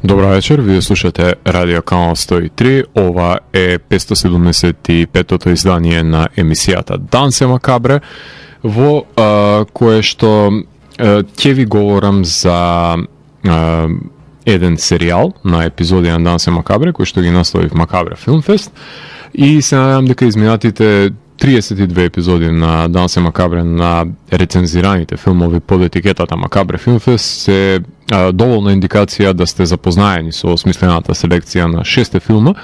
Добра вечер, вие слушате Радио Канал 103, ова е 575-тото издание на емисијата Дансе Макабре, во кое што ќе ви говорам за еден серијал на епизоди на Дансе Макабре, кој што ги насловив Макабре Филмфест, и се надевам дека изминатите 32 епизоди на Дансе Макабре на рецензираните филмови под етикетата Макабре Филмфест се доволна индикација да сте запознаени со смислената селекција на 6 филма,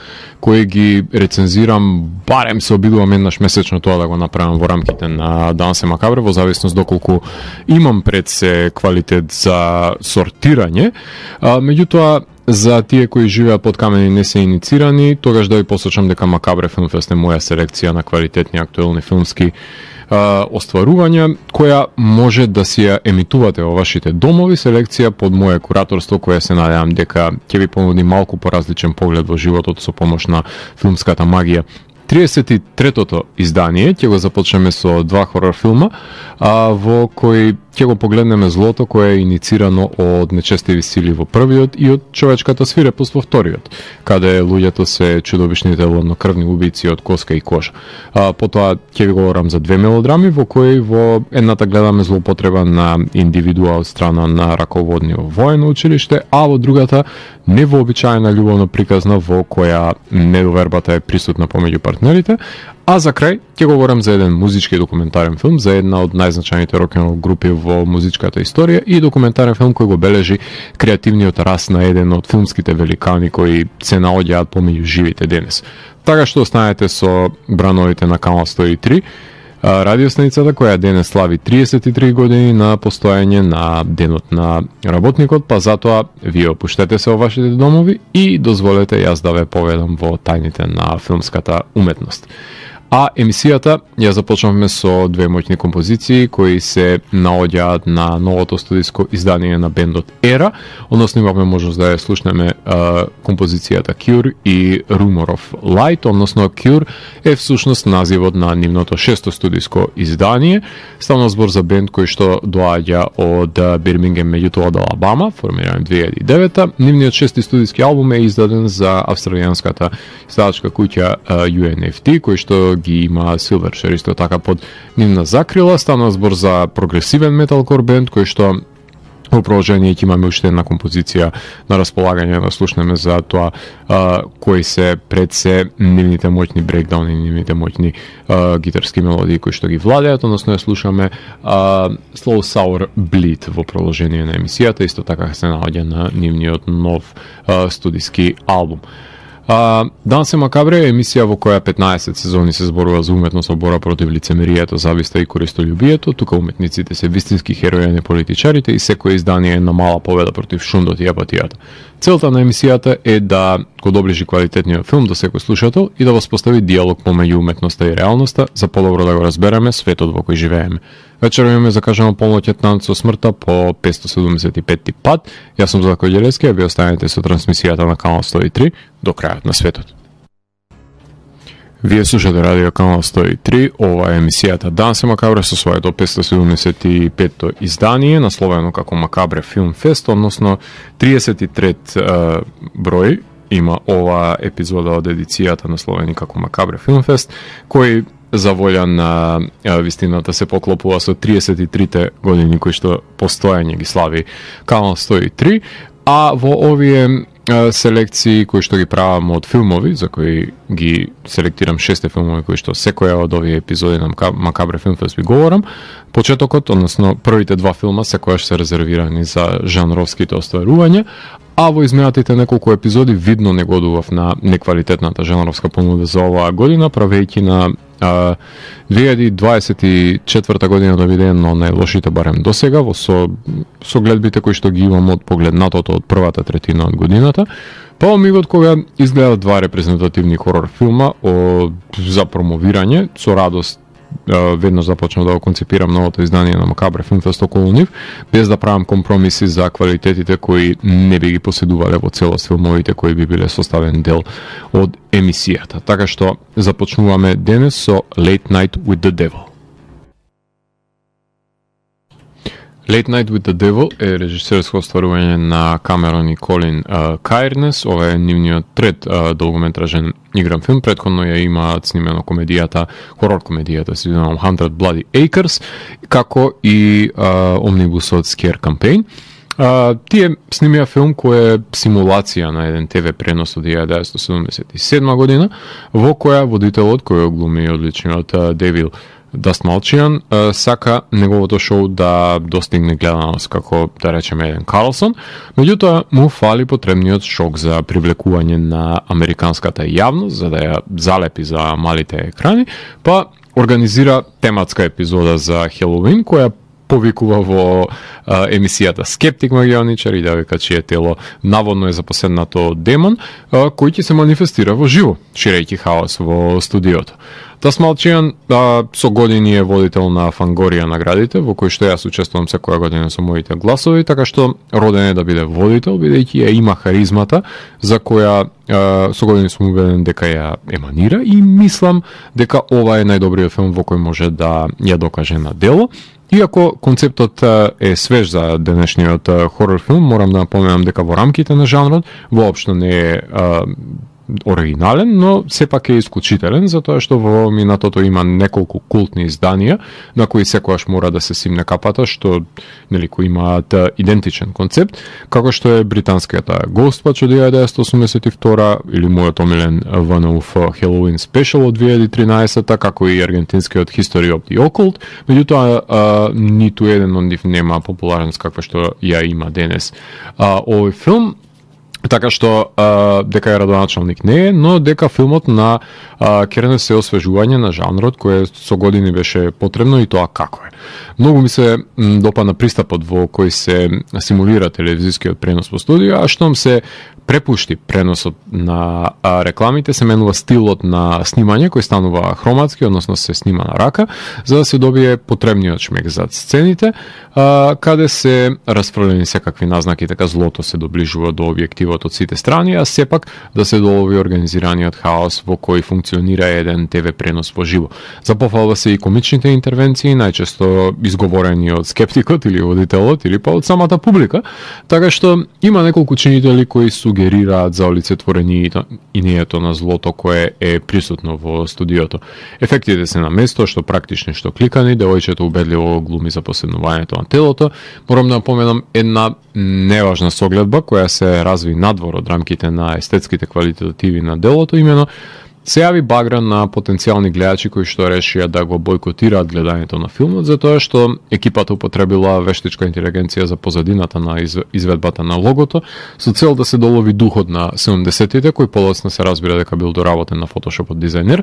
кои ги рецензирам, барем се обидувам еднаш месечно тоа да го направам во рамките на Дансе Макабре, во зависност доколку имам пред се квалитет за сортирање. Меѓутоа, за тие кои живеат под камени и не се иницирани, тогаш да ви посочам дека Макабре Филмфест е моја селекција на квалитетни актуелни филмски остварувања, која може да си ја емитувате во вашите домови, селекција под моје кураторство, која се надевам дека ќе ви понуди малку поразличен поглед во животот со помош на филмската магија. 33-тото издание ќе го започнеме со два хорор филма, во кои ќе го погледнеме злото кое е иницирано од нечестиви сили во првиот и од човечката свирепост во вториот, каде луѓето се чудовишните ладнокрвни убици од коска и кожа. Потоа ќе ви говорам за две мелодрами во кои во едната гледаме злоупотреба на индивидуа од страна на раководни во воено училиште, а во другата невообичаена љубовна приказна во која недовербата е присутна помеѓу партнерите. А за крај ќе говорам за еден музички документарен филм за една од најзначајните рок-н-рол групи во музичката историја и документарен филм кој го бележи креативниот раст на еден од филмските великани кои се наоѓаат помеѓу живите денес. Така што останете со брановите на Канал 103, радиостаницата која денес слави 33 години на постоење на денот на работникот, па затоа вие опуштете се во вашите домови и дозволете јас да ве поведам во тајните на филмската уметност. А емисијата ја започнавме со две моќни композиции кои се наоѓаат на новото студиско издание на бендот Era, односно имавме можност да ја слушнеме композицијата Cure и Rumor of Light, односно Cure е всушност називот на нивното 6-то студиско издание. Ставна збор за бенд кој што доаѓа од Бирмингем, меѓутоа од Алабама, формиран 2009-та. Нивниот 6-ти студиски албум е издаден за австралијанската издавачка куќа UNFT, кој што ги има Silverchair исто така под нивна закрила. Стана збор за прогресивен металкор бенд кој што во продолжение ќе имаме уште една композиција на располагање да слушнеме за тоа кои се пред се нивните моќни брейкдауни, нивните моќни гитарски мелодии кои што ги владеат, односно ја слушаме Slow Sour Bleed во продолжение на емисијата, исто така се наоѓа на нивниот нов студиски албум. Дансе Макабре е емисија во која 15 сезони се зборува за уметност во бора против лицемерието, зависта и користолюбието. Тука уметниците се вистински херои, а не политичарите, и секој издание е една мала победа против шундот и апатијата. Целта на емисијата е да го доближи квалитетниот филм до секој слушател и да воспостави диалог помеѓу уметноста и реалноста за подобро да го разбереме светот во кој живееме. Вечер имаме закажано полноќен танц со смртта по 575 пат. Јас сум Златко Ѓелески, а ви останете со трансмисијата на Канал 103 до крајот на светот. Вие слушате Радио Канал 103, ова е емисијата Дансе Макабре со своето 575-то издание, насловено како Макабре Филмфест, односно 33 број има ова епизода од едицијата насловени како Макабре Филмфест, кој за волја на вистината се поклопува со 33 години кои што постојање ги слави Канал 103, а во овие селекции кои што ги правам од филмови, за кои ги селектирам 6 филмови кои што секоја од овие епизоди на Макабре Филмфест ви говорам, почетокот, односно првите два филма секојаш се резервирани за жанровските остварувања, а во изминатите неколку епизоди видно негодував на неквалитетната жанровска понуда за оваа година, правејќи на 2024 година да биде едно најлошите барем досега со гледбите кои што ги имам од погледнатото од првата третина од годината. Па омигот кога изгледав два репрезентативни хорор филма за промовирање, со радост веднаш започнав да го концепирам новото издание на Макабре Филмфест околу нив, без да правам компромиси за квалитетите кои не би ги поседувале во целост филмовите кои би биле составен дел од емисијата. Така што започнуваме денес со Late Night with the Devil. Late Night with the Devil е режисерско остварување на Камерон и Колин Кајрнес. Ова е нивниот трет долгометражен игран филм. Претходно ја имаат снимено комедијата, хорор комедијата, се извинувам, 100 Bloody Acres, како и омнибусот Scare Campaign. Тие снимија филм кој е симулација на еден ТВ пренос од 1977 година, во која водителот, кој глуми одличниот Девил Дастмалчијан, сака неговото шоу да достигне гледаност како, да речеме, еден Карлсон, меѓутоа му фали потребниот шок за привлекување на американската јавност, за да ја залепи за малите екрани, па организира тематска епизода за Хелоуин, која повикува во емисијата Скептик магионичар и да вика чие тело наводно е запоседнато од демон, кој ќе се манифестира во живо, ширејќи хаос во студиото. Дастмалчијан со години е водител на Фангорија наградите, во кој што јас учествувам секоја година со моите гласови, така што роден е да биде водител, бидејќи ја има харизмата за која со години сум убеден дека ја еманира и мислам дека ова е најдобриот филм во кој може да ја докаже на дело. Иако концептот е свеж за денешниот хорор филм, морам да напоменам дека во рамките на жанрот воопшто не е оригинален, но сепак е исклучителен, затоа што во минатото има неколку култни изданија на кои секогаш мора да се симне капата, што нели кои имаат идентичен концепт, како што е британската Ghostwatch од 1982 или мојот омилен ВНУФ Halloween Special од 2013, како и аргентинскиот History of the Occult, меѓутоа ниту еден од нив нема популарност каква што ја има денес овој филм. Така што дека е радоначалник не е, но дека филмот на керне се освежување на жанрот кој со години беше потребно и тоа како е. Многу ми се допадна пристапот во кој се симулира телевизискиот пренос во студио, а штом се препушти преносот на рекламите, се менува стилот на снимање кој станува хроматски, односно се снима на рака, за да се добие потребниот шмек зад сцените, каде се расфрлени секакви назнаки, така злото се доближува до објективот од сите страни, а сепак да се долови организираниот хаос во кој функционира еден ТВ пренос во живо. За пофалба се и комичните интервенции, најчесто изговорени од скептикот или водителот или па од самата публика, така што има неколку чинители кои сугерираат за олицетворението на злото кое е присутно во студиото. Ефектите се на место, што практични, што кликани, девојчето убедливо глуми за поседнувањето на телото. Морам да напоменам една неважна согледба која се разви надвор од рамките на естетските квалитативи на делото, имено се јави багра на потенцијални гледачи кои што решија да го бойкотираат гледањето на филмот, затоа што екипата употребила вештичка интелигенција за позадината на изведбата на логото, со цел да се долови духот на 70-тите, кој полосно се разбира дека бил доработен на Photoshop од дизајнер,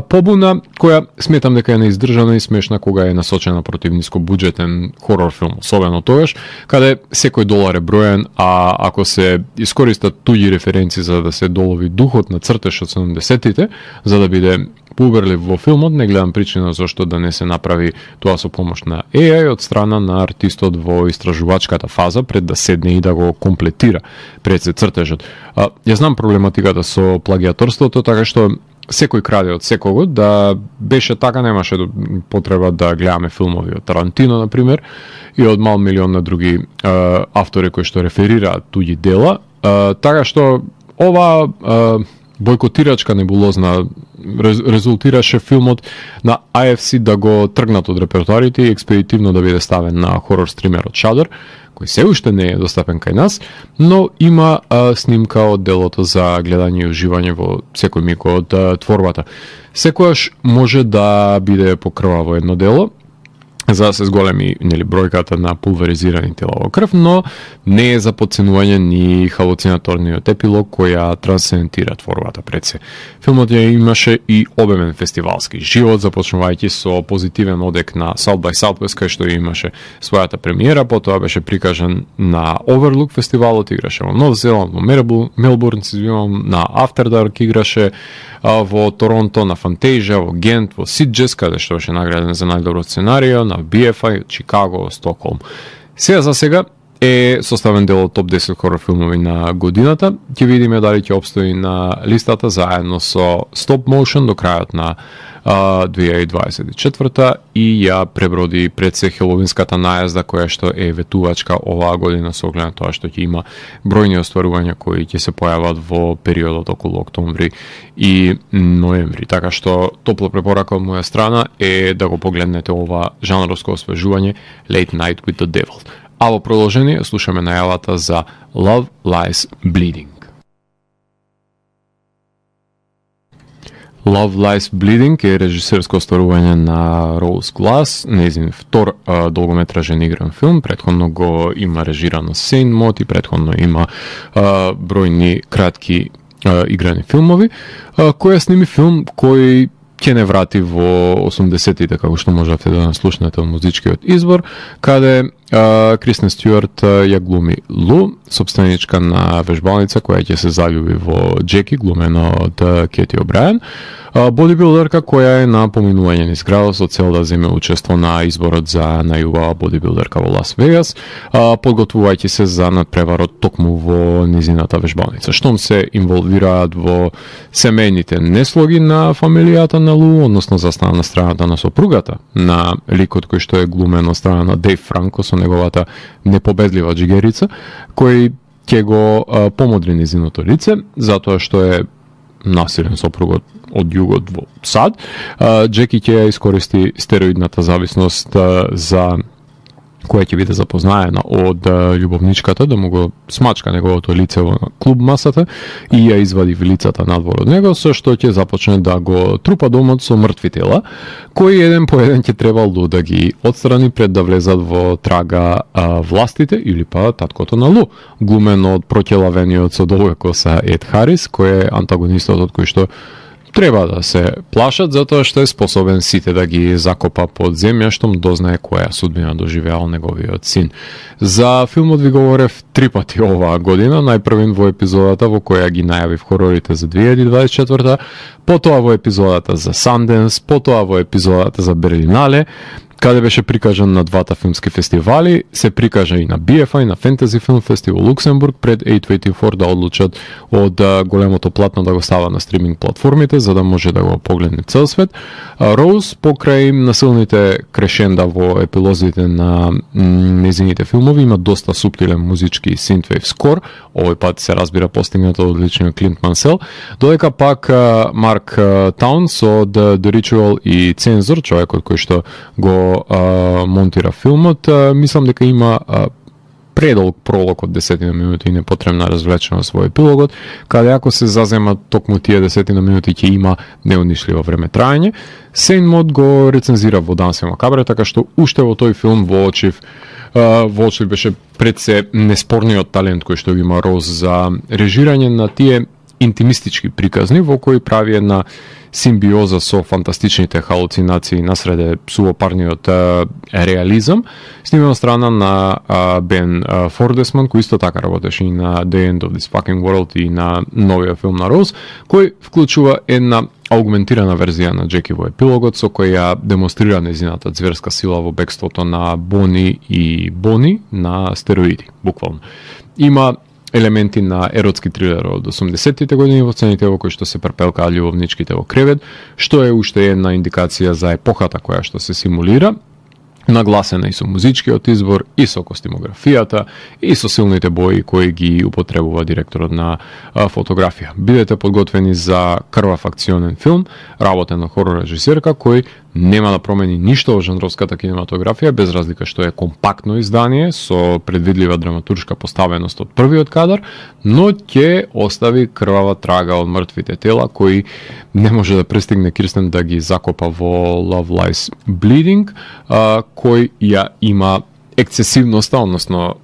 побуна која сметам дека е неиздржана и смешна кога е насочена против нискобуџетен хорор филм, особено тогаш, каде секој долар е броен, а ако се искористат туѓи референции за да се долови духот на цртеж од 70-тите, за да биде поуберлив во филмот, не гледам причина зашто да не се направи тоа со помош на AI од страна на артистот во истражувачката фаза пред да седне и да го комплетира пред се цртежот. Ја знам проблематиката со плагиаторството, така што секој краде од секого, да беше така немаше потреба да гледаме филмови од Тарантино, например, и од мал милион на други автори кои што реферираат туѓи дела, така што ова бойкотирачка небулозна резултираше филмот на AFC да го тргнат од репертоарите и експедитивно да биде ставен на хорор стримерот Shudder, кој се уште не е достапен кај нас, но има снимка од делото за гледање и уживање во секој миг од творбата. Секојаш може да биде покрваво едно дело, за да се зголеми бројката на пулверизирани тела во крв, но не е за подценување ни халуцинаторниот епилог која трансцендира творбата пред се. Филмот ја имаше и обемен фестивалски живот, започнувајќи со позитивен одек на South by Southwest, кај што имаше својата премиера, потоа беше прикажан на Overlook фестивалот, играше во Нов Зеланд, во Мелбурн, на After Dark играше во Торонто, на Фантазија, во Гент, во Сидџес, каде што беше награден за најдобро сценарио, на BFI, Чикаго, Стокхолм. За сега е составен дел од топ 10 хорор филмови на годината. Ќе видиме дали ќе обстои на листата заедно со Stop Motion до крајот на 2024 и ја преброди пред се хеловинската најазда која што е ветувачка оваа година со оглед на тоа што ќе има бројни остварувања кои ќе се појават во периодот околу октомври и ноември. Така што топла препорака од моја страна е да го погледнете ова жанровско освежување Late Night with the Devil. А во продолжение слушаме најавата за Love Lies Bleeding. Love Lies Bleeding е режисерско остварување на Роуз Глас, нејзин втор долгометражен игран филм. Претходно го има режирано Сейн Мот и претходно има бројни кратки играни филмови, која сними филм кој ќе не врати во 80-тите, како што можете да наслушнете од музичкиот избор, каде Кристен Стюарт ја глуми Лу, собственичка на вежбалница која ќе се залюби во Джеки, глумена од Кети О'Брајен, бодибилдерка која е на поминување низ градот со цел да земе учество на изборот за најубава бодибилдерка во Лас Вегас, подготвувајќи се за надпреварот токму во низината вежбалница. Штом се инволвираат во семејните неслоги на фамилијата на Лу, односно застана на страната на сопругата на ликот кој што е глумен од страна на Дејв Франко со неговата непобедлива джигерица, кој ќе го помодри низиното лице, затоа што е насилен сопругот од југот во САД. Джеки ќе ја искористи стероидната зависност за која ќе биде запознаена од љубовничката да му го смачка неговото лице во клуб масата и ја извади вилицата надвор од него, со што ќе започне да го трупа домот со мртви тела, кои еден по еден ќе требало да ги отстрани пред да влезат во трага властите или па таткото на Лу, глумен од проќелавениот со долга коса Ед Харис, кој е антагонистот од кој што треба да се плашат, затоа што е способен сите да ги закопа под земја, штом дознае која судбина доживеал неговиот син. За филмот ви говорев 3 пати оваа година, најпрвен во епизодата во која ги најавив хорорите за 2024, потоа во епизодата за Sundance, потоа во епизодата за Берлинале, каде беше прикажан на двата филмски фестивали, се прикажа и на BFI, на Fantasy Film Festival во Луксембург, пред A24 да одлучат од големото платно да го става на стриминг платформите, за да може да го погледне цел свет. Роуз, покрај насилните крешенда во епилозите на незините филмови, има доста суптилен музички синтвейв скор, овој пат се разбира постигнато од личниот Клинт Мансел, додека пак Марк Таунс од The Ritual и Цензор, човекот кој што го монтира филмот, мислам дека има предолг пролог од 10 минути и непотребна развлеченост во епилогот, каде ако се заземат токму тие 10 минути ќе има неунишливо време траење. Сейн Мод го рецензира во Дансе Макабре, така што уште во тој филм воочив беше пред се неспорниот талент кој што има Роуз за режирање на тие интимистички приказни во кои прави една симбиоза со фантастичните халуцинации насреде сувопарниот реализам, снимена страна на Бен Фордесман, кој исто така работеше и на The End of This Fucking World и на новиот филм на Роуз, кој вклучува една аугментирана верзија на Джеки во епилогот, со која демонстрира незината зверска сила во бегството на Бони и Бони на стероиди, буквално. Има елементи на еротски трилер од 80-тите години во сцените во кои што се препелкаат љубовничките во кревет, што е уште една индикација за епохата која што се симулира, нагласена и со музичкиот избор, и со костимографијата, и со силните бои кои ги употребува директорот на фотографија. Бидете подготвени за крвав акционен филм, работен на хорор режисерка, кој нема да промени ништо во жанровската кинематографија, без разлика што е компактно издание, со предвидлива драматуршка поставеност од првиот кадар, но ќе остави крвава трага од мртвите тела, кои не може да пристигне Кирстен да ги закопа во Love Lies Bleeding, кој ја има ексцесивноста, односно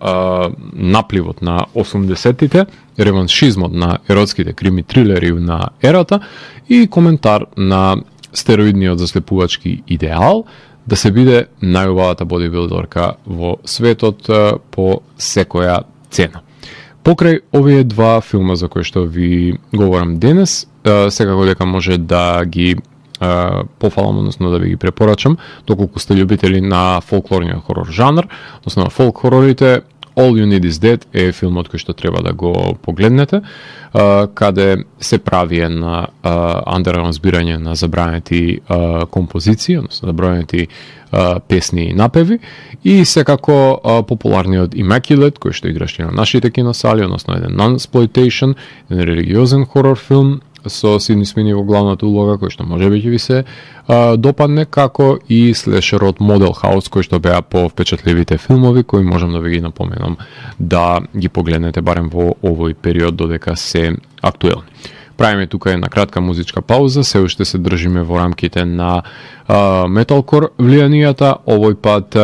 напливот на 80-тите, реваншизмот на еротските крими трилери на ерата и коментар на стероидниот заслепувачки идеал да се биде најубавата бодибилдерка во светот по секоја цена. Покрај овие два филма за кои што ви говорам денес, секако дека може да ги пофалам, односно да ви ги препорачам, доколку сте љубители на фолклорниот хорор жанр, односно на фолк хорорите. All You Need Is Dead е филмот кој што треба да го погледнете, каде се прави една андерграунд збирање на забранети композиции, односно забранети песни и напеви, и секако популарниот Immaculate, кој што играше на нашите киносали, односно еден non-exploitation, еден религиозен хорор филм со Сидни Свини во главната улога, кој што можеби ќе ви се допадне, како и слешерот Model House, кој што беа по впечатливите филмови, кои можам да ви ги напоменам да ги погледнете барем во овој период додека се актуелни. Правиме тука една кратка музичка пауза, се уште се држиме во рамките на металкор влијанијата. Овој пат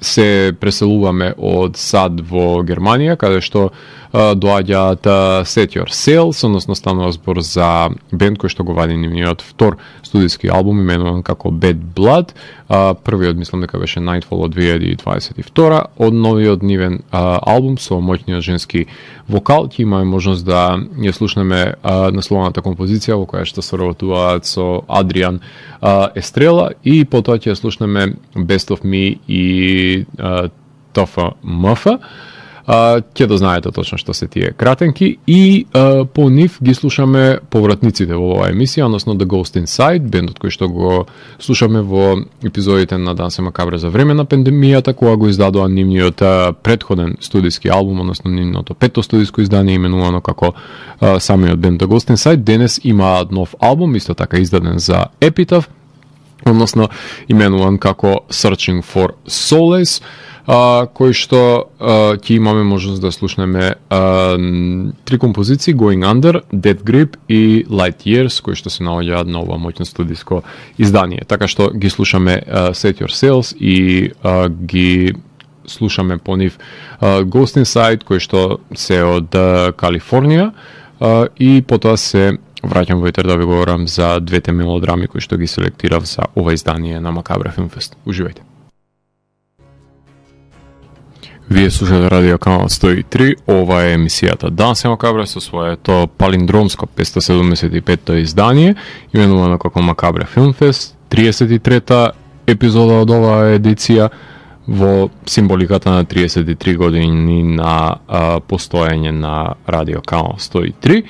се преселуваме од САД во Германија, каде што доаѓаат Set Your Sails, односно станува збор за бенд кој што го вади нивниот втор студиски албум, именуван како Bad Blood. Првиот мислам дека беше Nightfall од 2022, од новиот нивен албум со моќниот женски вокал. Ќе имаме можност да ја слушнеме насловната композиција во која што соработуваат со Адриан Естрела, и потоа ќе ја слушнеме Best of Me и Тофа Мфа. Ќе да знаете точно што се тие кратенки, и по нив ги слушаме повратниците во оваа емисија, односно The Ghost Inside, бендот кој што го слушаме во епизодите на Дансе Макабре за време на пандемијата, кога го издадоа нивниот предходен студиски албум, односно нивното пето студиско издание, именувано како самиот бенд The Ghost Inside. Денес има нов албум, исто така издаден за Epitaph, односно именуван како Searching for Solace, кој што ќе имаме можност да слушнеме три композиции: Going Under, Dead Grip и Light Years, кои што се наоѓаат на ова моќно студиско издание. Така што ги слушаме Set Your Sails и ги слушаме по нив Ghost Inside, кој што се од Калифорнија, и потоа се враќам во етер да ви говорам за двете мелодрами кои што ги селектирав за ова издание на Макабре Филмфест. Уживајте. Вие слушате Радио Канал 103, ова е емисијата Дансе Макабре со своето палиндромско 575-то издание, именувано како Макабре Филмфест, 33-та епизода од оваа едиција, во символиката на 33 години на постоење на Радио Канал 103,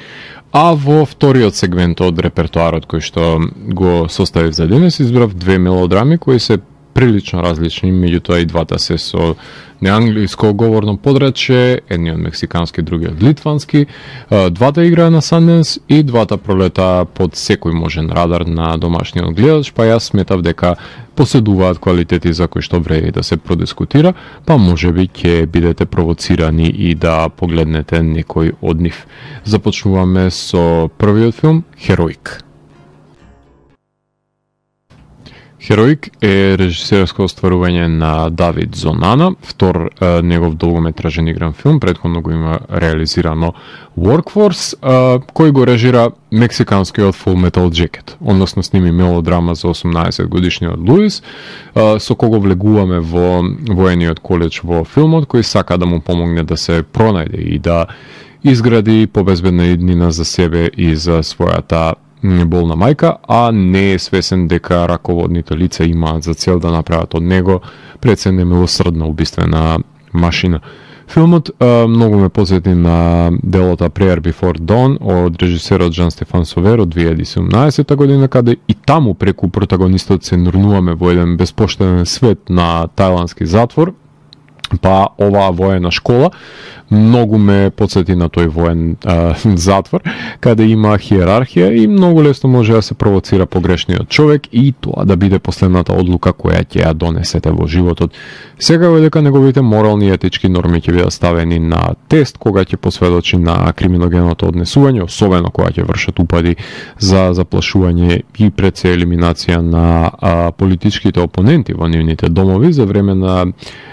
а во вториот сегмент од репертуарот кој што го составив за денес, избрав две мелодрами кои се прилично различни, меѓутоа и двата се со неанглиско говорно подрачје, едниот мексикански, другиот литвански. Двата играа на Sundance и двата пролета под секој можен радар на домашниот гледач, па јас сметав дека поседуваат квалитети за кои што вреди да се продискутира, па можеби ќе бидете провоцирани и да погледнете некој од нив. Започнуваме со првиот филм Heroic. Heroic е режисерско остварување на Давид Зонана, втор негов долгометражен игран филм, предходно го има реализирано Workforce, кој го режира мексиканскиот Full Metal Jacket, односно сними мелодрама за 18 годишниот Луис, со кого влегуваме во воениот коледж во филмот, кој сака да му помогне да се пронајде и да изгради побезбедна иднина за себе и за својата болна мајка, а не е свесен дека раководните лица имаат за цел да направат од него пред се немилосрдна убиствена машина. Филмот многу ме посети на делото Prayer Before Dawn од режисерот Жан Стефан Совер од 2017 година, каде и таму преку протагонистот се нурнуваме во еден безпоштеден свет на тајландски затвор, па оваа воена школа многу ме подсети на тој воен затвор, каде има хиерархија и многу лесно може да се провоцира погрешниот човек и тоа да биде последната одлука која ќе ја донесете во животот. Секако дека неговите морални и етички норми ќе бидат ставени на тест кога ќе посведочи на криминогеното однесување, особено кога ќе вршат упади за заплашување и пред се елиминација на политичките опоненти во нивните домови за време на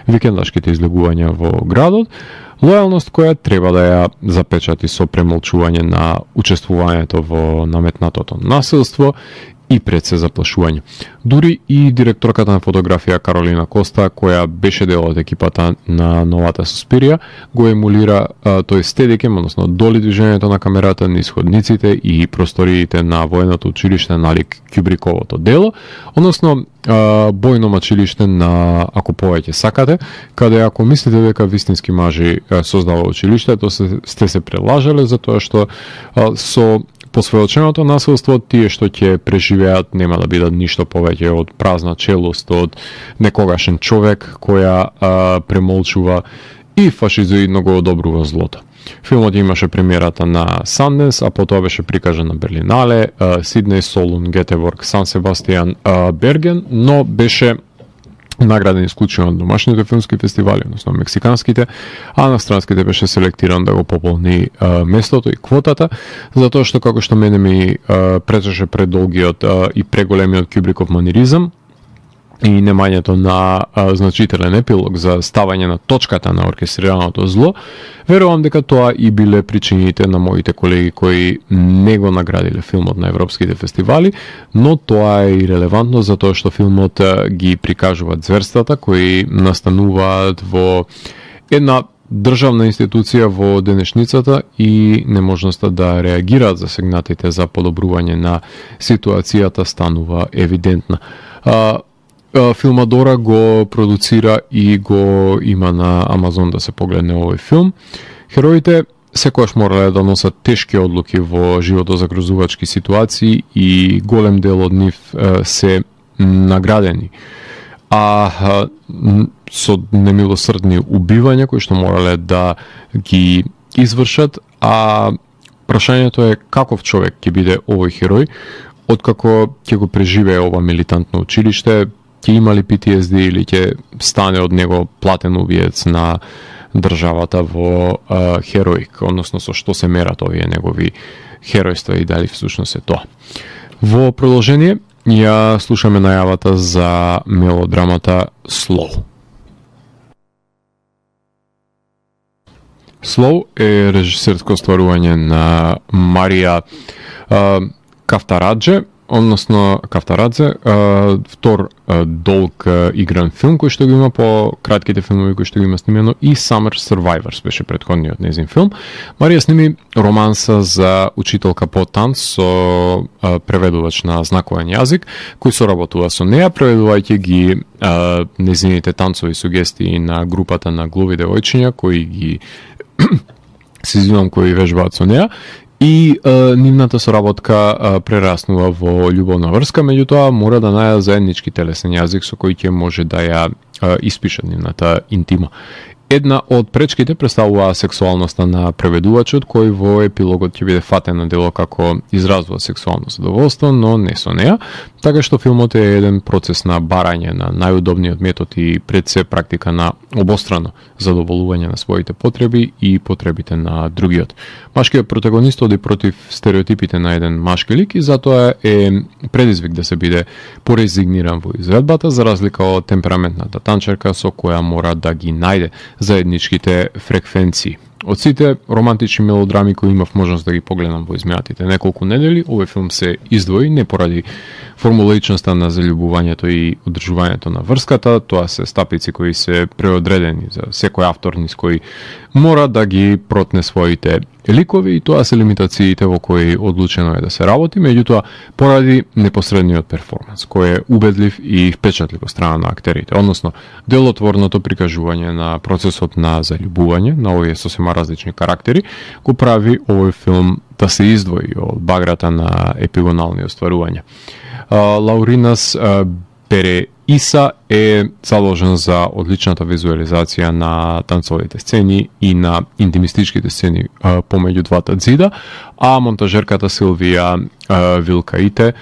викендашките излегувања во градот. Лојалност која треба да ја запечати со премолчување на учествувањето во наметнатото насилство и пред се заплашување. Дури и директорката на фотографија Каролина Коста, која беше дел од екипата на новата Суспирија, го емулира тој стедикем, односно доли движењето на камерата низ ходниците и просториите на военото училиште налик Кюбриковото дело, односно бојно мачилиште на ако повеќе сакате, каде ако мислите дека вистински мажи создава училиштето, сте се прелажале, затоа што со посведоченото насилство тие што ќе преживеат нема да бидат ништо повеќе од празна челост, од некогашен човек која премолчува и фашизоидно го одобрува злото. Филмот имаше премиерата на Санденс, а потоа беше прикажан на Берлинале, Сиднеј, Солун, Гетеборг, Сан Себастијан, Берген, но беше награден исклучено на домашните филмски фестивали, односно мексиканските, а на странските беше селектиран да го пополни местото и квотата, затоа што како што мене ми пречеше предолгиот и преголемиот Кюбриков маниризам и немањето на значителен епилог за ставање на точката на оркестрираното зло, верувам дека тоа и биле причините на моите колеги кои не го наградиле филмот на европските фестивали, но тоа е и релевантно затоа што филмот ги прикажуваат зверствата кои настануваат во една државна институција во денешницата и неможноста да реагираат засегнатите за подобрување на ситуацијата станува евидентна. Филмадора го продуцира и го има на Амазон да се погледне овој филм. Хероите секогаш морале да носат тешки одлуки во животозагрозувачки ситуации и голем дел од нив се наградени. А со немилосрдни убивања кои што морале да ги извршат, а прашањето е каков човек ќе биде овој херој откако ќе го преживее ова милитантно училиште, ќе има ли PTSD или ќе стане од него платен убиец на државата во хероик, односно со што се мерат овие негови херојства и дали всушност е тоа. Во продолжение ја слушаме најавата за мелодрамата Slow. Slow е режисерско стварување на Марија Кавтарадзе, односно Кавтарадзе, втор долг игран филм кој што го има по кратките филмови кои што го има снимено и Summer Survivors беше претходниот незин филм. Марија сними романса за учителка по танц со преведувач на знаковен јазик, кој соработува со неа, преведувајќи ги незините танцови сугестии на групата на глуви девојчиња кои ги се извинувам кои вежбаат со неа. И нивната соработка прераснува во љубовна врска, меѓутоа мора да најдат заеднички телесен јазик со кој ќе може да ја испише нивната интима. Една од пречките представува сексуалноста на преведувачот, кој во епилогот ќе биде фатен на дело како изразува сексуално задоволство, но не со неа, така што филмот е еден процес на барање на најудобниот метод и пред се практика на обострано задоволување на своите потреби и потребите на другиот. Машкиот протагонист оди против стереотипите на еден машки лик и затоа е предизвик да се биде порезигниран во изvedбата, за разлика од темпераментната танчерка со која мора да ги најде заедничките фреквенции. Од сите романтични мелодрами кои имав можност да ги погледам во изминатите неколку недели, овој филм се издвои не поради формулаичноста на заљубувањето и одржувањето на врската, тоа се стапици кои се преодредени за секој автор низ кој мора да ги протне своите ликови и тоа се лимитациите во кои одлучено е да се работи, меѓутоа поради непосредниот перформанс, кој е убедлив и впечатлив од страна на актерите, односно делотворното прикажување на процесот на заљубување на овие сосема различни карактери, го прави овој филм да се издвои од баграта на епигонални остварувања. Лауринас Береиса е заложен за одличната визуализација на танцовите сцени и на интимистичките сцени помеѓу двата ѕида, а монтажерката Силвија Вилкаите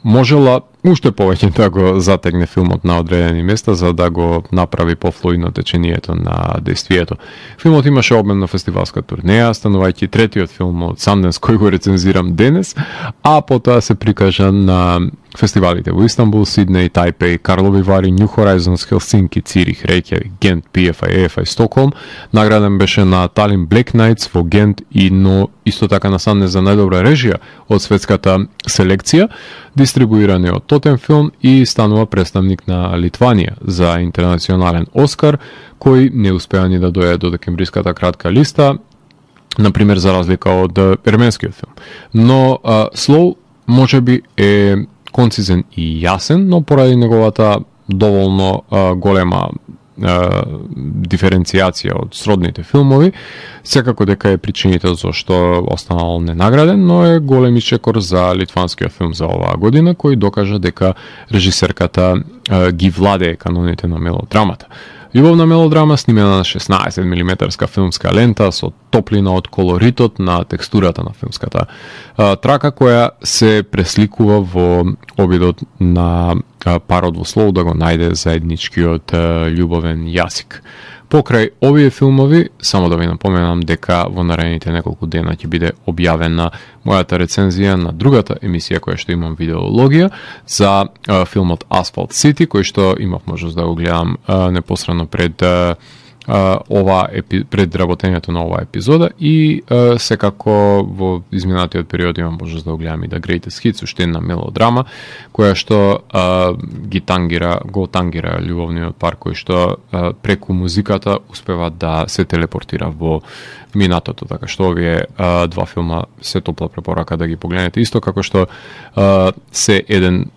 можела уште повеќе да го затегне филмот на одредени места за да го направи пофлуидно течението на действието. Филмот имаше обмен на фестивалска турнеја, станувајќи третиот филм од Sundance кој го рецензирам денес, а потоа се прикажа на фестивалите во Истанбул, Сиднеј, Тајпеј, Карлови Вари, New Horizons, Хелсинки, Цирих, Рејкјавик, Гент, PFI, EFI, Стокхолм. Награден беше на Талин Black Nights во Гент но исто така на Sundance за најдобра режија од светската селекција, дистрибуиран е од Тотем Филм и станува представник на Литванија за интернационален Оскар, кој не успеа ни да дојде до декембриската кратка листа, например за разлика од ерменскиот филм. Но Slow можеби е концизен и јасен, но поради неговата доволно голема диференцијација од сродните филмови, секако дека е причинител зашто останал ненаграден, но е голем ичекор за литванскиот филм за оваа година, кој докажа дека режисерката ги владее каноните на мелодрамата. Љубовна мелодрама снимена на 16 мм филмска лента со топлина од колоритот на текстурата на филмската трака, која се пресликува во обидот на парот во Slow да го најде заедничкиот љубовен јазик. Покрај овие филмови, само да ви напоменам дека во наредните неколку дена ќе биде објавена мојата рецензија на другата емисија која што имам видеологија за филмот Asphalt City, кој што имав можност да го гледам непосредно пред пред работењето на оваа епизода и секако во изминатиот период имам можност да го гледам и The Greatest Hits, уште една мелодрама која што го тангира љубовниот пар кој што преку музиката успева да се телепортира во минатото, така што овие два филма се топла препорака да ги погледнете, исто како што се еден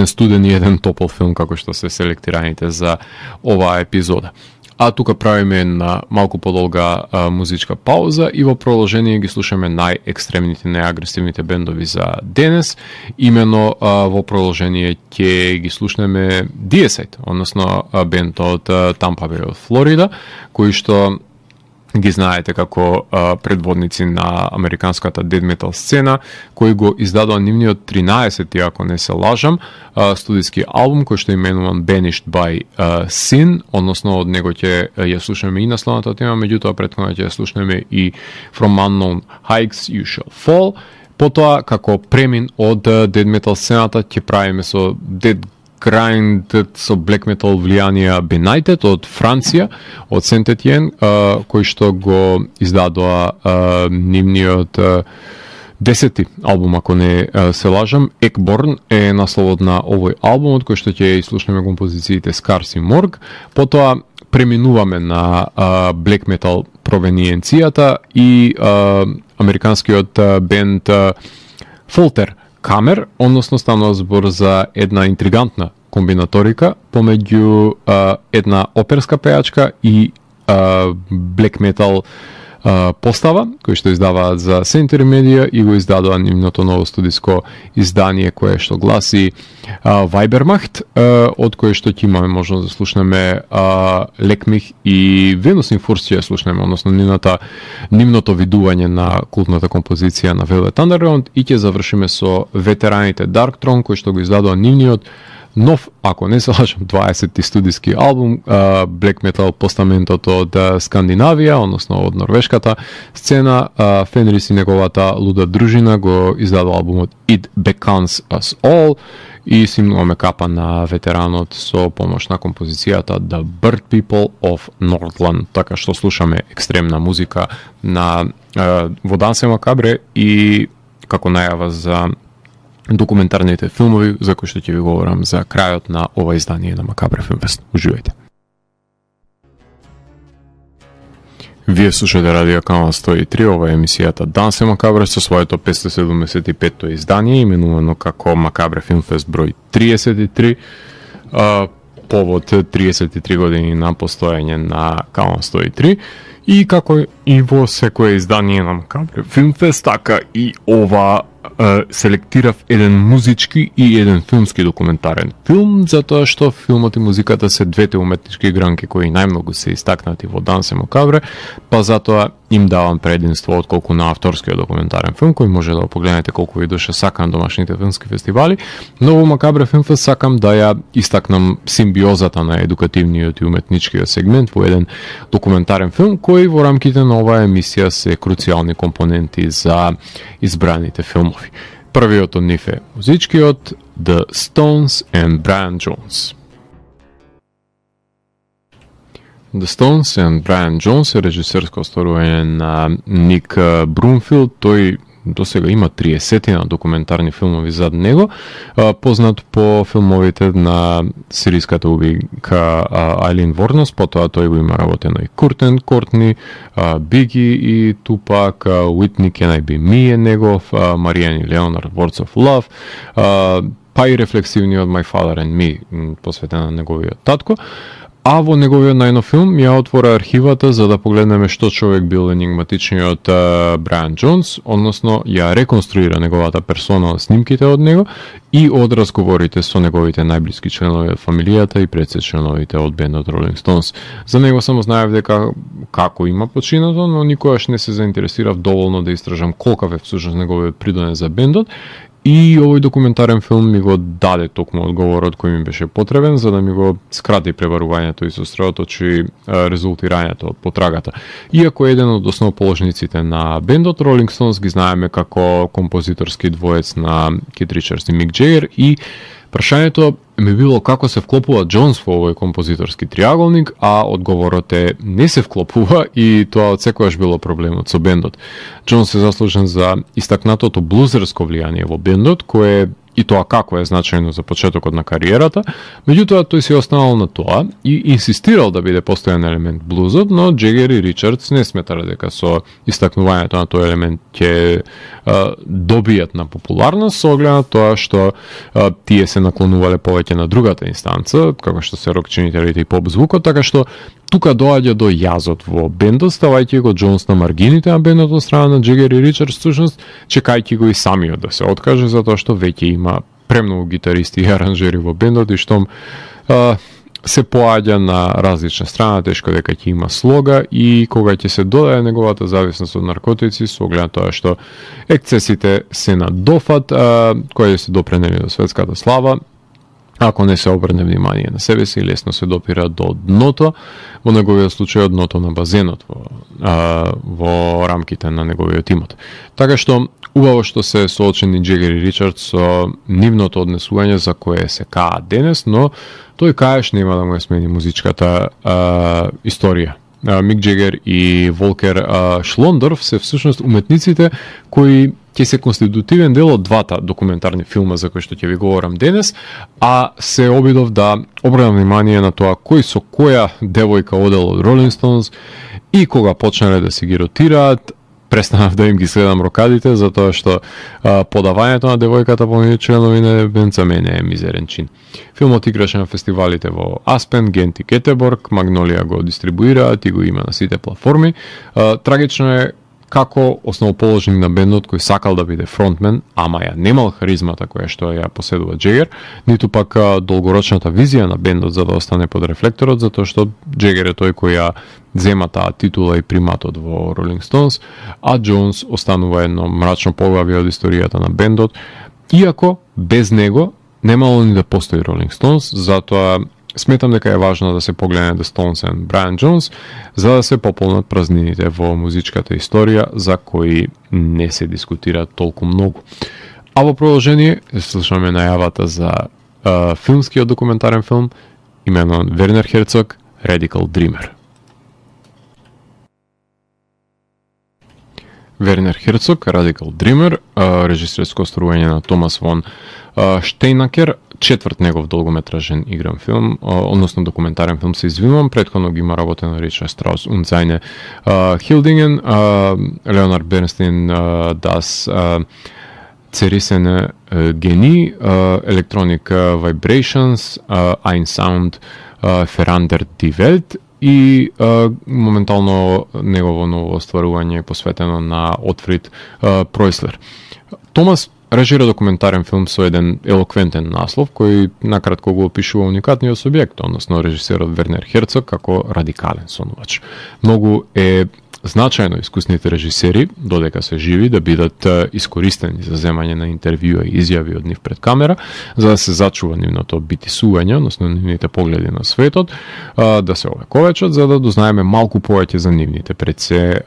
студен и еден топол филм како што се селектираните за оваа епизода. А тука правиме една малку подолга музичка пауза и во продолжение ги слушаме најекстремните, најагресивните бендови за денес. Имено во продолжение ќе ги слушнеме Deicide, односно бенд од Тампа Беј од Флорида, кои што ги знаете како предводници на американската дед метал сцена, кој го издадува нивниот 13-ти, ако не се лажам, студиски албум кој што е именуван Banished by Sin, односно од него ќе ја слушнеме и насловната тема, меѓутоа претходно ќе ја слушнеме и From Unknown Heights You Shall Fall. Потоа, како премин од дед метал сцената, ќе правиме со дед grind со black metal влијанија Benighted од Франција, од Saint-Étienne, кој што го издадоа нивниот 10-ти албум, ако не се лажам. Екборн е насловот на овој албум, од кој што ќе слушнеме композициите Scars и Morg. Потоа преминуваме на black metal провениенцијата и американскиот бенд Folter Камер, односно станува збор за една интригантна комбинаторика помеѓу една оперска пејачка и black metal постава, кој што издаваат за Century Media и го издадува нивното ново студиско издание кое што гласи Weibermacht, од кое што ќе имаме можност да слушнеме Лекмих и Venus in Furs ќе слушнеме, односно нивното видување на култната композиција на Velvet Underground и ќе завршиме со ветераните Darkthrone, кој што го издадува нивниот нов, ако не се лажам, 20-ти студиски албум, black metal постаментот од Скандинавија, односно од норвешката сцена. Фенрис и неговата луда дружина го издадува албумот It Beckons Us All и симнуваме капа на ветеранот со помош на композицијата The Bird People of Northland, така што слушаме екстремна музика во Дансе Макабре и како најава за документарните филмови за кои што ќе ви говорам за крајот на ова издание на Макабре Филмфест. Уживајте. Вие слушате Радио Канал 103, ова е емисијата Дансе Макабре со своето 575-то издание, именувано како Макабре Филмфест број 33, повод 33 години на постоење на Канал 103. И како и во секое издание на Макабре Филмфест, така и ова селектирав еден музички и еден филмски документарен филм, затоа што филмот и музиката се двете уметнички гранки кои најмногу се истакнати во Дансе Макабре, па затоа им давам прединство отколку на авторскиот документарен филм, кој може да го погледнете колку ви душа сакам домашните филмски фестивали, но во Макабре Филмфест сакам да ја истакнам симбиозата на едукативниот и уметничкиот сегмент во еден документарен филм, кој во рамките на оваа емисија се круцијални компоненти за избраните филмови. Првиот од нив е музичкиот The Stones and Brian Jones. The Stones and Brian Jones е режисерско остварување на Ник Брумфилд. Тој до сега има 30 документарни филмови зад него, познат по филмовите на сириската убийка Айлин Ворнос, потоа тој го има работено и Куртен Кортни, Биги и Тупак, Уитни Can I Be Me е негов, Маријан и Леонард Words of Love, па и рефлексивниот My Father and Me, посветен на неговиот татко. А во неговиот најнов филм ја отвора архивата за да погледнеме што човек бил енигматичниот Брайан Джонс, односно ја реконструира неговата персона од снимките од него и од разговорите со неговите најблиски членови од фамилијата и пред се членовите од бендот Rolling Stones. За него само знаев дека како има починато, но никогаш не се заинтересирав доволно да истражам колкав е всушност неговиот придонес за бендот. И овој документарен филм ми го даде токму одговорот кој ми беше потребен, за да ми го скрати пребарувањето и сосредоточи резултирањето од потрагата. Иако еден од основоположниците на бендот Rolling Stones ги знаеме како композиторски двоец на Кит Ричардс и Мик Джегер, и прашањето ми било како се вклопува Джонс во овој композиторски триаголник, а одговорот е не се вклопува, и тоа од секогаш било проблемот со бендот. Джонс е заслужен за истакнатото блузерско влијание во бендот, кое и тоа како е значајно за почетокот на кариерата, меѓутоа тој се останал на тоа и инсистирал да биде постојан елемент блузот, но Джегер и Ричардс не сметале дека со истакнувањето на тој елемент ќе добијат на популарност, со оглед на тоа што тие се наклонувале повеќе на другата инстанца, како што се рок-чинителите и поп-звукот, така што тука доаѓа до јазот во бендот, ставајќи го Джонс на маргините на бендот од страна на Джегер и Ричардс, всушност чекајќи го и самиот да се откаже, затоа што веќе има премногу гитаристи и аранжери во бендот, и штом се поаѓа на различна страна, тешко дека ќе има слога, и кога ќе се додаде неговата зависност од наркотици, со оглед на тоа што ексцесите се на дофат, кои се допренели до светската слава, ако не се обрне внимание на себе си, лесно се допира до дното, во неговиот случај дното на базенот во рамките на неговиот имот. Така што убаво што се соочени Джегер и Ричардс со нивното однесување за кое се каа денес, но тој каеш нема да му ја смени музичката историја. Мик Джегер и Волкер Шлондорф се всушност уметниците кои ќе се конститутивен дел од двата документарни филма за кои што ќе ви говорам денес, а се обидов да обрнам внимание на тоа кој со која девојка одел од Rolling Stones, и кога почнале да се ги ротираат, престанав да им ги следам рокадите, затоа што подавањето на девојката помеѓу членови на бенд за мене е мизерен чин. Филмот играше на фестивалите во Аспен, Гент и Гетеборг, Магнолија го дистрибуираат и го има на сите платформи. Трагично е како основоположник на бендот кој сакал да биде фронтмен, ама ја немал харизмата која што ја поседува Джегер, ниту пак долгорочната визија на бендот за да остане под рефлекторот, затоа што Джегер е тој кој ја зема таа титула и приматот во Rolling Stones, а Джонс останува едно мрачно поглавје од историјата на бендот, иако без него немало ни да постои Rolling Stones, затоа сметам дека е важно да се погледне The Stones and Brian Jones, за да се пополнат празнините во музичката историја за кои не се дискутира толку многу. А во продолжение слушаме најавата за филмскиот документарен филм именуван Вернер Херцог, Radical Dreamer. Вернер Херцог, Radical Dreamer, режисерско остварување на Томас фон Штейнакер, четврт негов долгометражен игран филм, односно документарен филм, се извинувам, претходно ги има работено Ричард Штраус und seine Hildingen, Леонард Бернстейн, Das zerrissene Genie, Electronic Vibrations, Ein Sound verändert die Welt, и моментално негово ново остварување е посветено на Отфрид Пройслер. Томас режира документарен филм со еден елоквентен наслов, кој накратко го опишува уникатниот субјект, односно режисерот Вернер Херцог како радикален сонувач. Многу е значајно искусните режисери, додека се живи, да бидат искористени за земање на интервјуа и изјави од нив пред камера, за да се зачува нивното битисување, односно нивните погледи на светот, да се овековечат, за да дознаеме малку повеќе за нивните пред се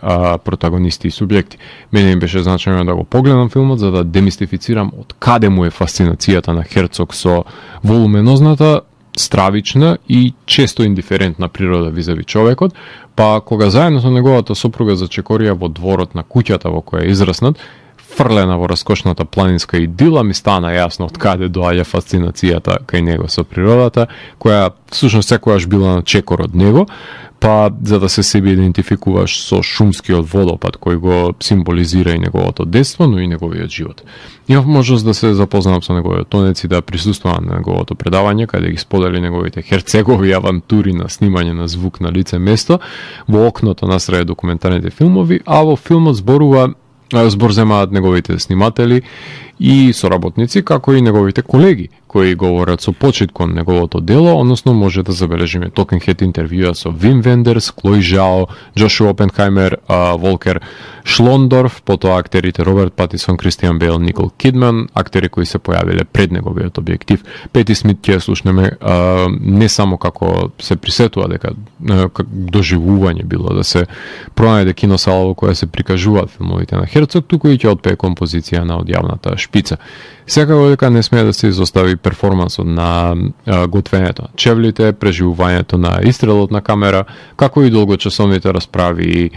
протагонисти и субјекти. Мене им беше значајно да го погледам филмот, за да демистифицирам од каде му е фасцинацијата на Херцог со волуменозната, стравична и често индиферентна природа визави човекот, па кога заедно со неговата сопруга зачекорија во дворот на куќата во која е израснат, фрлена во раскошната планинска идила, ми стана јасно од каде доаѓа фасцинацијата кај него со природата, која всушност секогаш била на чекор од него, па за да се себе идентификуваш со шумскиот водопад кој го символизира и неговото детство, но и неговиот живот. Имав можност да се запознам со неговиот тонец и да присуствувам на неговото предавање, каде ги сподели неговите херцегови авантури на снимање на звук на лице место во окното насрај документарните филмови, а во филмот збор земаат неговите сниматели и соработници, како и неговите колеги, кои говорат со почит кон неговото дело, односно може да забележиме Talking Head интервјуа со Вим Вендерс, Клој Жао, Джошуа Опенхаймер, Волкер Шлондорф, потоа актерите Роберт Патисон, Кристијан Бейл, Никол Кидман, актери кои се појавиле пред неговиот објектив. Пети Смит ќе слушнеме не само како се присетува дека доживување било да се пронајде киносала во која се прикажуваат филмовите на Херцог, туку и ќе отпее композиција на одјавната шпица. Секако дека не смее да се изостави перформансот на готвењето, чевлите, преживувањето на истрелот на камера, како и долгочасовните расправи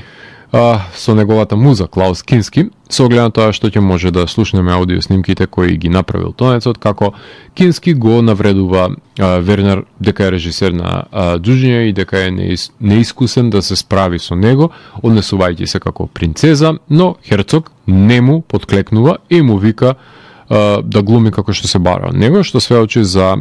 со неговата муза Клаус Кински, со оглед на тоа што ќе може да слушнеме аудио снимките кои ги направил тонецот, како Кински го навредува Вернер дека е режисер на џуџиња и дека е неискусен да се справи со него, однесувајќи се како принцеза, но Херцог не му подклекнува и му вика да глуми како што се бара од него, што сведочи за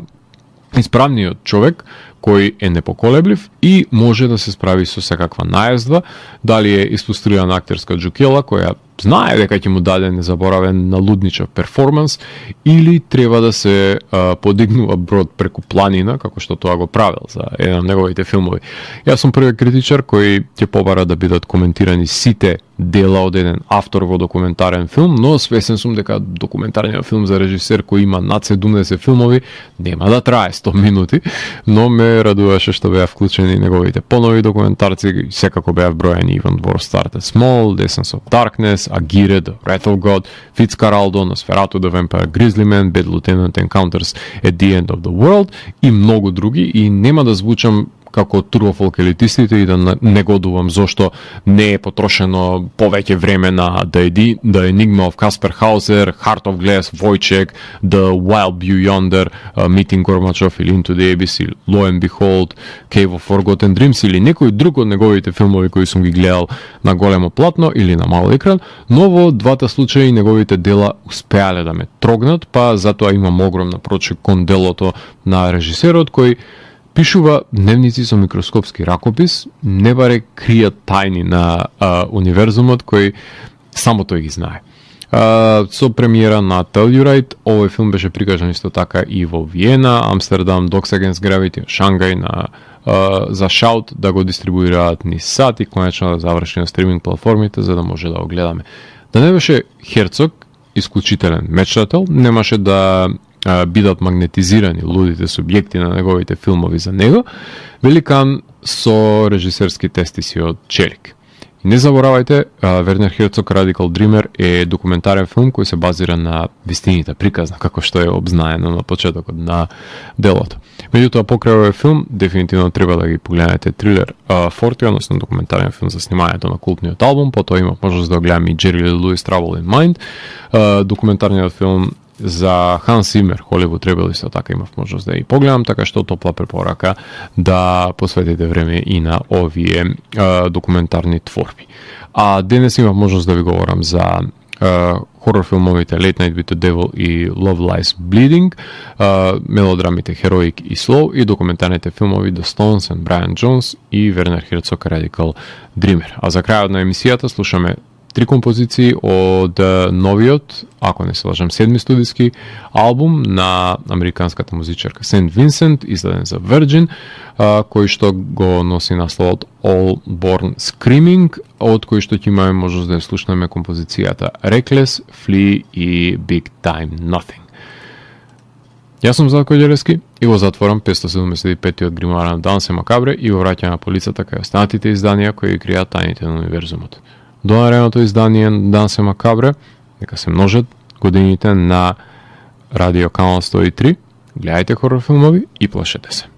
исправниот човек кој е непоколеблив и може да се справи со секаква најазда, дали е испострувана актерска џукела која знае дека ќе му даде незаборавен налудничав перформанс, или треба да се подигнува брод преку планина, како што тоа го правил за еден од неговите филмови. Јас сум првиот критичар кој ќе побара да бидат коментирани сите дела од еден автор во документарен филм, но свесен сум дека документарниот филм за режисер кој има над 70 филмови нема да трае 100 минути, но ме радуваше што беа вклучени неговите понови документарци, секако беа вброени Even War Started Small, The Essence of Darkness, Aguirre, The Wrath of God, Fitzcarraldo, Nosferatu, The Vampire Grizzly Man, Bad Lieutenant Encounters at the End of the World и многу други, и нема да звучам како турбофолк елитистите и да негодувам зошто не е потрошено повеќе време на The Enigma of Caspar Hauser, Heart of Glass, Wojciech, The Wild View Yonder, Meeting Gorbachev или Into the Abyss, или Lo and Behold, Cave of Forgotten Dreams или некој друг од неговите филмови кои сум ги гледал на големо платно или на мал екран, но во двата случаи неговите дела успеале да ме трогнат, па затоа имам огромна прочек кон делото на режисерот кој пишува дневници со микроскопски ракопис, не баре кријат тајни на универзумот кој само тој ги знае. Со премиера на Telluride, овој филм беше прикажан исто така и во Виена, Амстердам, Dogs Against Gravity, Шангај за Shout да го дистрибуираат низ сат и конечно да заврши на стриминг платформите за да може да го гледаме. Да не беше Херцог исклучителен мечтател, немаше да бидат магнетизирани лудите субјекти на неговите филмови за него, великан со режисерски тестиси од Челик. Не заборавајте, Вернер Херцог Radical Dreamer е документарен филм кој се базира на вистините, приказна, како што е обзнаено на почетокот на делото. Меѓутоа, покрај овој филм, дефинитивно треба да ги погледнете Трилер 40, односно документарен филм за снимањето на култниот албум, потоа има можност да го гледаме и Jerry Lee Lewis Trouble in Mind, документарниот филм за Ханс Зимер, Холивуд Ребел, исто така имав можност да ја погледам, така што топла препорака да посветите време и на овие документарни творби. А денес имав можност да ви говорам за хорор филмовите Late Night with the Devil и Love Lies Bleeding, мелодрамите Heroic и Slow и документарните филмови The Stones and Brian Jones и Вернер Херцог Radical Dreamer. А за крајот на емисијата слушаме 3 композиции од новиот, ако не се лажам, 7 студиски албум на американската музичарка Сент Винсент, издаден за Virgin, кој што го носи насловот All Born Screaming, од кој што ќе имаме можност да ја слушнеме композицијата Reckless, Flee и Big Time Nothing. Јас сум Зlatko Ѓелевски и го затворам 575-тиот гримуар на Дансе Макабре и го враќам на полицата кај останатите изданија кои кријат тајните на универзумот. До наредното издание на Дансе Макабре, нека се множат годините на Радио Канал 103, гледајте хорор филмови и плашете се.